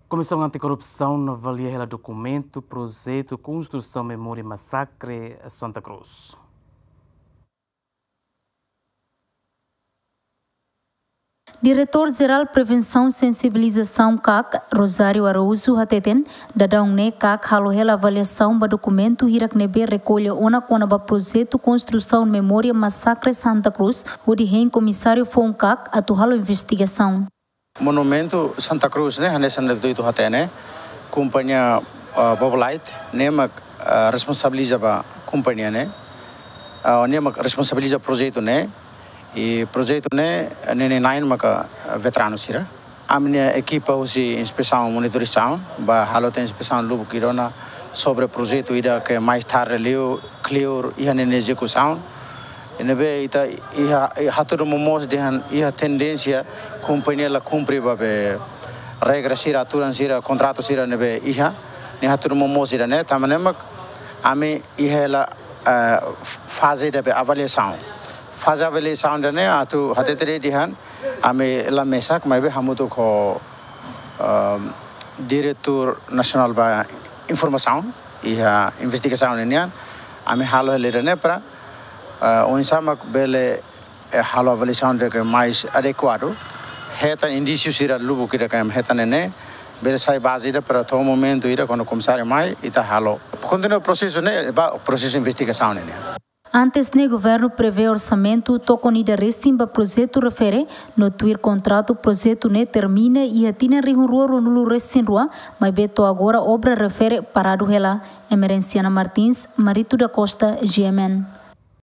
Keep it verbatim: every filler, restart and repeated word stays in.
Komisaun Antikorrupsaun avalia hela dokumentu projetu konstrusaun memória masakre Santa Cruz. Diretór Jerál Prevensaun Sensibilizasaun kak, Rosário Araújo hateten, daudaun ne'e kak halo hela avaliasaun ba dokumentu hirak ne'ebé rekolla ona kona-ba projetu konstrusaun memória masakre Santa Cruz, hodi hein komisáriu foun kak atu halo investigasaun. Monumentu Santa Cruz ne'e, hanesan ita hotu hatene, kompañia, ah, Bobolite ne'e mak, ah, responsabiliza ba kompañia ne'e, ah, ne'e mak responsabiliza projetu ne'e, i projetu ne'e, ne'e, ne'e na'in maka, ah, veteranu sira. Ami-nia ekipa husi inspesaun monitorizasaun bá halo tiha inspesaun lubuk ida ona sobre projetu ida ke mais tarde liu kleur iha ninia ezekusaun. Ne'ebé ita iha, iha hatudu momoos dehan iha tendénsia kompañia la kumpre ba be regra sira, aturan sira, kontratu sira ne'ebé iha. Ne'e hatudu momoos ida ne'e, tanba ne'e mak ami iha hela, eh, faze ida be avaliasaun. Faze avaliasaun ida ne'e atu hatete dehan ami la mesak, maibé hamutuk ho, ehm, Diretór Nasionál ba Informasaun iha investigasaun ninian, ami halo hela ida ne'e para, eh, oinsá mak bele, eh, halo avaliasaun ida ke mais adekuadu, hetan indísiu sira lubuk ida ke ami hetan ne'e, bele sai baze ida para to'o momentu ida kuandu komisáriu mai, ita halo. Kontinua prosesu ne'e, ba prosesu investigasaun ne'e. Antes ne'e governu prevee orsamentu tokon ida resin ba projetu refere, no tuir kontratu projetu ne'e termina iha tinan rihun rua ruanulu resin rua, maibé to'o agora obra refere paradu hela. Emerenciana Martins, Marito da Costa, G M N.